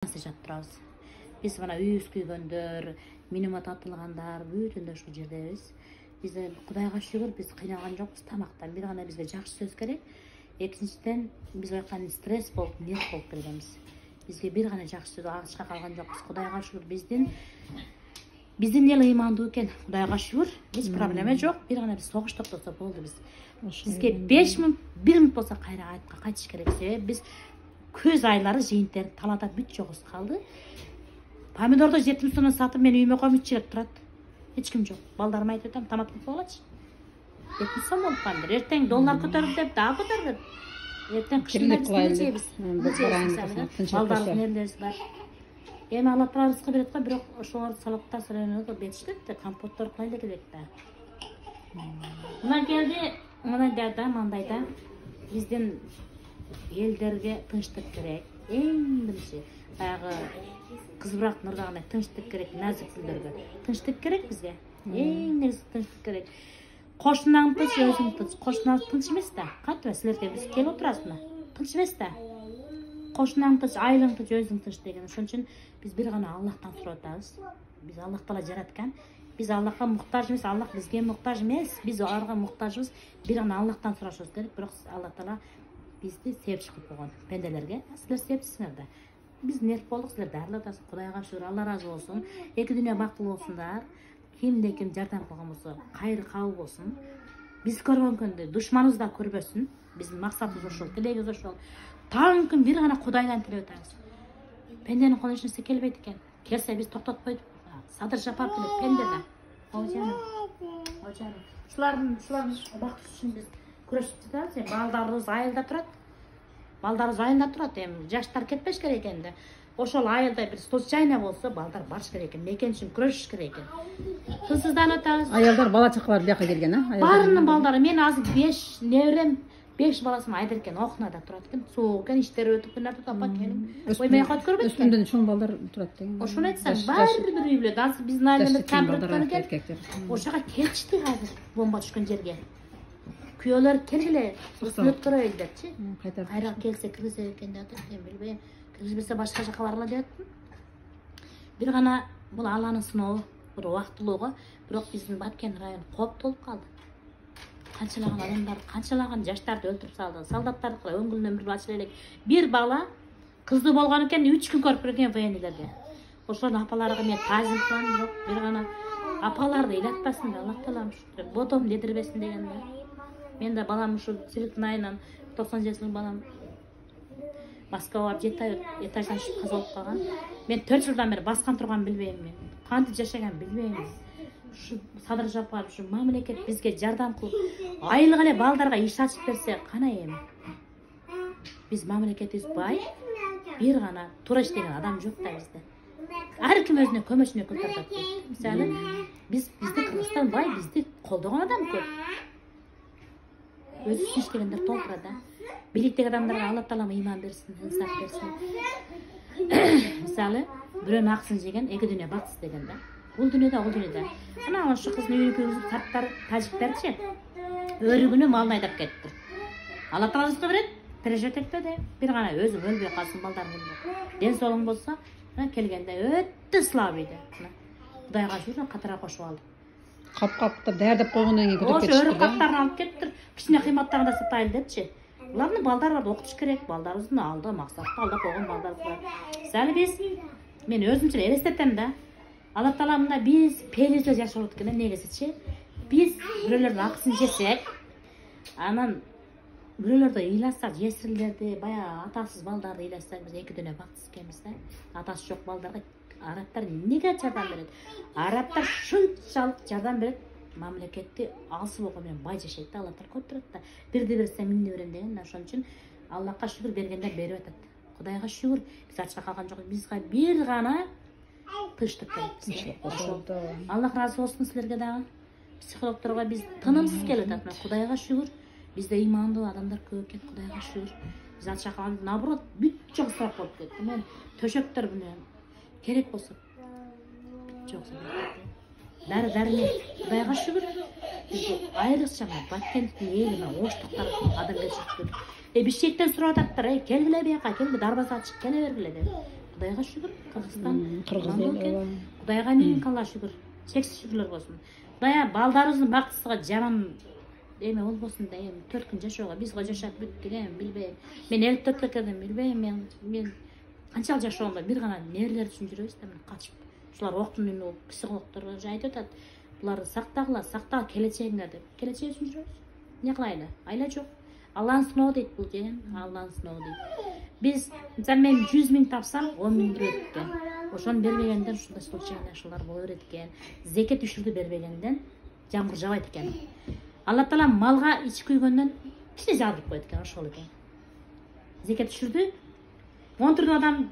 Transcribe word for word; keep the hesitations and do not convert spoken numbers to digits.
жашап турабыз. Биз мына үйүбүз күйгөндөр, миномат атылгандар бүтүндөй ушул жердебиз. Биз Кудайга шүгүр биз кыйналган жокпуз тамактан. Бир гана бизге жакшы сөз керек. Экинчиден биз байкаган стресс болуп, нерв болуп келгенбиз. Бизге бир гана жакшы сөз агачка калган жокпуз. Кудайга шүгүр биздин биздин эл ыймандуу экен. Кудайга шүгүр, эч проблема жок. Бир гана биз согуш токтосо болду биз. Бизге беш минут, бир минут болсо кайра айтка кайтыш керек. Себеби биз көз айлары жыйынтер талаада бүт жогубуз калды. Помидорду жетимиш сомдон сатып мен үйүмө коюм, үч чилек турат. Эч ким жок. Балдарыма айтып атам, тамак кылып койгулачы. жетимиш сом болуп калды. Эртең доллар көтөрүлдү деп дагы көтөрдү. Эртең кышында биз жейбиз. Балдардын нерлерибиз бар. Эми Алла Таала рызкы берет го, бирок ошолор салаттар салат бетиштет, компоттор кылайлы керек да. Мына келди, мына да мындай да. Биздин элдерге тынчтык керек. Эң биринчи баягы кыз бурак нурдагындай тынчтык керек, назик гүлдөргө. Тынчтык керек бизге. Эң негизи тынчтык керек. Кошунан тынч, өзүң тынч. Кошунан тынч эмес да. Кантип силерде биз келип отурасызбы? Тынч эмес да. Кошунан тынч, айылың тынч, өзүң тынч деген. Ошон үчүн биз бир гана Аллахтан сурап атабыз. Биз Аллах Таала жараткан. Биз Аллахка муктаж эмес, Аллах бизге муктаж эмес. Биз аларга муктажбыз. Бир гана Аллахтан сурашыбыз керек. Бирок Алла Таала бизди себепчи кылып койгон пенделерге. Силер себепчисиңер да. Биз нерв болдук, силер дарылап атасыз. Кудайга шүгүр, Алла ыраазы болсун. Эки дүйнө бактылуу болсундар. Кимде ким жардам кылган болсо, кайры кабыл болсун. Биз көргөн күндө душманыбыз да көрбөсүн. Биздин максатыбыз ошол, тилегибиз ошол. Таң күн бир гана Кудайдан тилеп атабыз. Пенденин колунан эч нерсе келбейт экен. Келсе биз токтотпойдук. Садыр Жапаров эле пенде да. Ожаным. Ожаным. Ушулардын, ушулардын бакыты үчүн биз күрөшүп жатабыз. Балдарыбыз айылда турат. Балдарыбыз айылда турат. Эми жаштар кетпеш керек экен да. Ошол айылда бир случайно болсо балдар барыш керек экен. Мекен үчүн күрөшүш керек экен. Тынчсызданып атабыз. Аялдар бала чакалар бияка келген, а? Баарынын балдары. Мен азыр беш неберем, беш баласым айда экен, окнада турат экен. Суук экен, иштери өтүп күнөрдү апа келин. Оймай кат көрбөйт экен. Өсүмдөн чоң балдар турат деген. Ошону айтсам, баары бир үй бүлө. Азыр биздин айылда камер өткөн экен. Ошого келишти азыр бомба түшкөн жерге. Күйөөлөр келгиле, өсүп көрөйүн депчи. Кайра келсе киргизе экен деп атат, мен билбейм. Киргизбесе башка жака баргыла деп аттым. Бир гана бул Алланын сынообу, бир убактылууга, бирок биздин Баткен району кооптолуп калды. Канчалаган адамдар, канчалаган жаштарды өлтүрүп салды. Солдаттарды өңгүлүнөн бир ачыла элек. Бир бала кызды болгон экен, үч күн көрүп берген военныйлерге. Ошонун апаларга мен таазим кылам, бирок бир гана апаларды ыйлатпасын, Аллах Таала ушул бодом дедирбесин деген да. Мен да балам ушул Силиктин айынан токсон жети жылдык балам Москвага барып жети ай этаждан түшүп каза болуп калган. Мен төрт жылдан бери баскан турган билбейм мен. Кантип жашаган билбейм. Ушу Садыр Жапаров ушу мамлекет бизге жардам кылып, айлык эле балдарга иш ачып берсе, кана эми. Биз мамлекетибиз бай, бир гана туура иштеген адам жок да бизде. Ар ким өзүнө көмөчүнө кылтырат. Мисалы, биз бизди Кыргызстан бай, бизди колдогон адам көп. Өзү үчүн иштегендер толтура да. Бийликтеги адамдарга Алла Таала ыйман берсин, инсаф берсин. Мисалы, бирөөнүн акысын жеген эки дүйнө баксыз деген да. Бул дүйнөдө, ал дүйнөдө. Анан ошо кыздын үйүнү күйгүзүп таптар, тажиктерчи өрүгүнү малын айдап кетти. Алла Таала рызкы берет, пережет этпеди. Бир гана өзүң өлбөй калсын, балдарың өлбөй. Ден соолугуң болсо, келгенде өтө слабыйды. Кудайга шүгүр, катара кошуп алды. Кап-капта даярдап койгондон кийин көтөрүп кетишти. Ошо өрүк каптарын алып кетиптир. Кичине кыйматтарын да сатайлы депчи. Булардын балдары бар, окутуш керек. Балдарыбыздын алда максатты алда койгон балдарыбыз бар. Мисалы биз, мен өзүмчө элестетем да. Алла Таала мында биз пелизде жашап экен, негизичи. Биз бирөөлөрдүн акысын жесек, анан бирөөлөрдү ыйласак, жесирлерди, баягы атасыз балдарды ыйласак, биз эки дүйнө бактысыз экенбиз да. Атасы жок балдарга арабтар эмнеге жардам берет? Арабтар шунчалык жардам берет. Мамлекетти алсы болгон менен бай жашайт да, Алла Таала көтөрөт да. Бирди берсе минди берем деген. Ошон үчүн Аллахка шүгүр, бергендер берип атат. Кудайга шүгүр, биз ачка калган жок. Бизге бир гана тынчтык керек. Ошол. Аллах ыраазы болсун силерге дагы. Психологдорго биз тынымсыз келип атат. Кудайга шүгүр, бизде ыймандуу адамдар көп экен. Кудайга шүгүр. Биз ачка калган, наоборот, бүт жок сырап болуп кетти. Мен төшөктөр менен керек болсо бүт жок сырап. Дары дарымен, Кудайга шүгүр, бизде айрыкча Баткендин элине оштуктар адам келишип. Э бишкектен сурап ататтыр, келгиле бияка, келгиле дарбаза ачык келе бергиле деп. Кудайга шүгүр, Кыргызстан Кыргыз аман эл, экен. ооба. Кудайга миң калла шүгүр. Чексиз шүгүрлөр болсун. Кудай балдарыбыздын бактысыга жаман эме болбосун да, эми төрт күн жашоого биз го жашап бүттүк, эми билбейм. Мен элүү төрткө келдим, билбейм мен. Мен канчалык жашоомда бир гана нервилер үчүн жүрөбүз да, мен качып. Ушулар октун үнү психологдор айтып атат. Буларды сактагыла, сактаа келечегиңер деп. Келечек үчүн жүрөбүз. Эмне кылайлы? Айла жок. Алланын сыноо дейт бул жеген, Алланын сыноо дейт. Биз, мисалы мен жүз миң тапсам, он миң берет экен. Ошону бербегенден ушундай случайный ушулар боло берет экен. Зекет үшүрдү бербегенден жамгыр жабайт экен. Алла Таала малга ич күйгөндөн кичине жаадырып коет экен, ошол экен. Зекет үшүрдү. он төрт адам